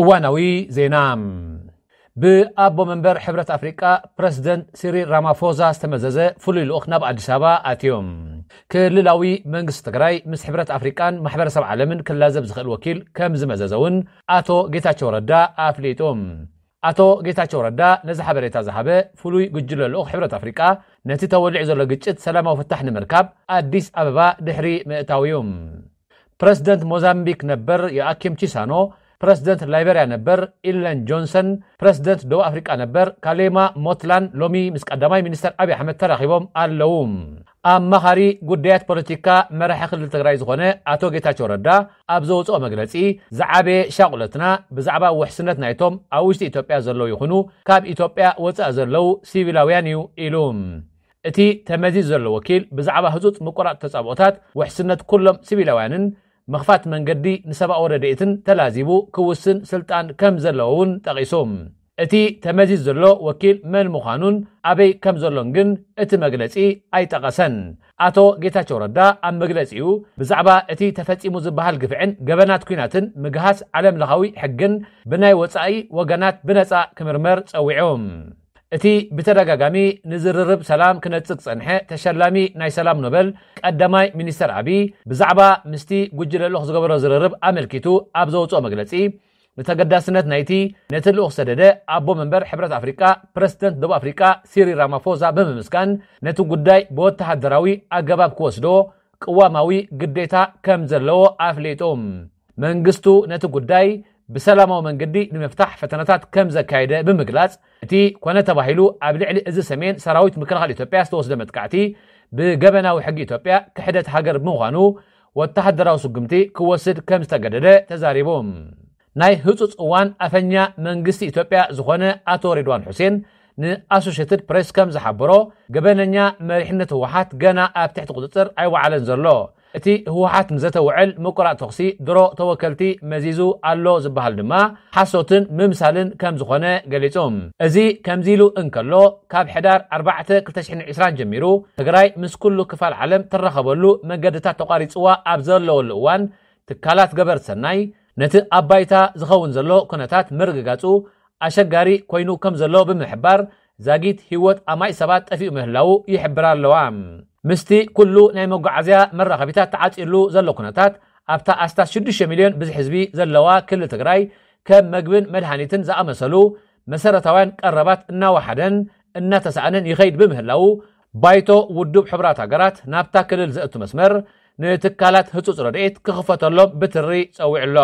እዋናዊ ዜና። ብኣቦ መንበር ሕብረት ኣፍሪቃ ፕረዚደንት ሲሪል ራማፎዛ ዝተመዘዘ ፍሉይ ልኡኽ ናብ ኣዲስ ኣበባ ኣትዮም። ክልላዊ መንግስቲ ትግራይ ምስ ሕብረት ኣፍሪቃን ማሕበረሰብ ዓለምን ክላዘብ ዝኽእል ወኪል ከም ዝመዘዘ እውን ኣቶ ጌታቸው ረዳ ኣፍሊጡ። ኣቶ ጌታቸው ረዳ ነዚ ሓበሬታ ዝሃበ ፍሉይ ጉጅለ ልኡኽ ሕብረት ኣፍሪቃ ነቲ ተወሊዑ ዘሎ ግጭት ሰላማዊ ፍታሕ ንምርካብ ኣዲስ ኣበባ ድሕሪ ምእታው እዩ። ፕረዚደንት ሞዛምቢክ ነበር ዮኣኪም ቺሳኖ፣ ፕረዚደንት ላይበርያ ነበር ኢለን ጆንሰን፣ ፕረዚደንት ደቡብ ኣፍሪቃ ነበር ካሌማ ሞትላን ሎሚ ምስ ቀዳማይ ሚኒስተር ኣብይ ኣሕመድ ተራኺቦም ኣለዉ። ኣማኻሪ ጉዳያት ፖለቲካ መራሒ ክልል ትግራይ ዝኾነ ኣቶ ጌታቸው ረዳ ኣብ ዘውፅኦ መግለፂ፣ ዝዓበየ ሻቑለትና ብዛዕባ ውሕስነት ናይቶም ኣብ ውሽጢ ኢትዮጵያ ዘለዉ ይኹኑ ካብ ኢትዮጵያ ወፃኢ ዘለዉ ሲቪላውያን እዩ ኢሉ። እቲ ተመዚዙ ዘሎ ወኪል ብዛዕባ ህጹጽ ምቁራጽ ተጻብኦታት ውሕስነት ኩሎም ሲቪላውያንን ምኽፋት መንገዲ ንሰብኣዊ ረድኤትን ተላዚቡ ክውስን ስልጣን ከም ዘለዎ እውን ጠቒሱ። እቲ ተመዚዙ ዘሎ ወኪል መን ምዃኑን ኣበይ ከም ዘሎን ግን እቲ መግለጺ ኣይጠቐሰን። ኣቶ ጌታቸው ረዳ ኣብ መግለጺኡ ብዛዕባ እቲ ተፈጺሙ ዝበሃል ግፍዕን ገበናት ኲናትን ምግሃስ ዓለም ለኻዊ ሕግን ብናይ ወጻኢ ወገናት ብነጻ ክምርመር ጸዊዑ። እቲ ብተደጋጋሚ ንዝርርብ ሰላም ክነጽግ ዝጸንሐ ተሸላሚ ናይ ሰላም ኖበል ቀዳማይ ሚኒስተር ኣቢይ ብዛዕባ ምስቲ ጉጅለ ልኡኽ ዝገበሮ ዝርርብ ኣመልኪቱ ኣብ ዘውጽኦ መግለጺ፣ ንተገዳስነት ናይቲ ነቲ ልኡኽ ዝሰደደ ኣቦ መንበር ሕብረት ኣፍሪቃ ፕረዚደንት ደቡብ ኣፍሪቃ ሲሪል ራማፎዛ ብምምስጋን፣ ነቲ ጉዳይ ብወተሃደራዊ ኣገባብ ክወስዶ ቅዋማዊ ግዴታ ከም ዘለዎ ኣፍሊጡ። መንግስቱ ነቲ ጉዳይ ብሰላማዊ መንገዲ ንምፍታሕ ፈተነታት ከም ዘካየደ ብምግላጽ፣ እቲ ኮነ ተባሂሉ ኣብ ልዕሊ እዚ ሰሜን ሰራዊት ምክልኻል ኢትዮጵያ ዝተወስደ መጥቃዕቲ ብገበናዊ ሕጊ ኢትዮጵያ ክሕደት ሃገር ብምዃኑ ወተሃደራዊ ስጉምቲ ክወስድ ከም ዝተገደደ ተዛሪቡ። ናይ ህጹጽ እዋን ኣፈኛ መንግስቲ ኢትዮጵያ ዝኾነ ኣቶ ሬድዋን ሑሴን ንኣሶሼትድ ፕሬስ ከም ዝሓበሮ፣ ገበነኛ መሪሕነት ህወሓት ገና ኣብ ትሕቲ ቁጽጽር ኣይወዓለን ዘሎ። እቲ ህወሓት ንዘተውዕል ምቁራጽ ተኹሲ ድሮ ተወከልቲ መዚዙ ኣሎ ዝበሃል ድማ ሓሶትን ምምሳልን ከም ዝኾነ ገሊጹ። እዚ ከምዚ ኢሉ እንከሎ፣ ካብ ሕዳር ኣርባዕተ ክልተ ሽሕን ዕስራን ጀሚሩ ትግራይ ምስ ኩሉ ክፋል ዓለም ትራኸበሉ መገድታት ተቋሪጽዋ ኣብ ዘለወሉ እዋን፣ ትካላት ገበርቲ ሰናይ ነቲ ኣብ ባይታ ዝኸውን ዘሎ ኩነታት ምርግጋጹ ኣሸጋሪ ኮይኑ ከም ዘሎ ብምሕባር፣ ዛጊት ህይወት ኣማኢት ሰባት ጠፊኡ ምህላዉ ይሕብራ ኣለዋ። ምስቲ ኩሉ ናይ መጓዓዝያ መራኸቢታት ተዓጺሉ ዘሎ ኩነታት፣ ኣብታ ኣስታት ሽዱሽተ ሚልዮን ብዝሒ ህዝቢ ዘለዋ ክልል ትግራይ ከም መግብን መድሃኒትን ዝኣመሰሉ መሰረታውያን ቀረባት እናወሓደን እናተሳእነን ይኸይድ ብምህላዉ፣ ባይቶ ውድብ ሕቡራት ሃገራት ናብታ ክልል ዘእቱ መስመር ንትካላት ህጹጽ ረድኤት ክኽፈተሎም ብትሪ ጸዊዑ ኣሎ።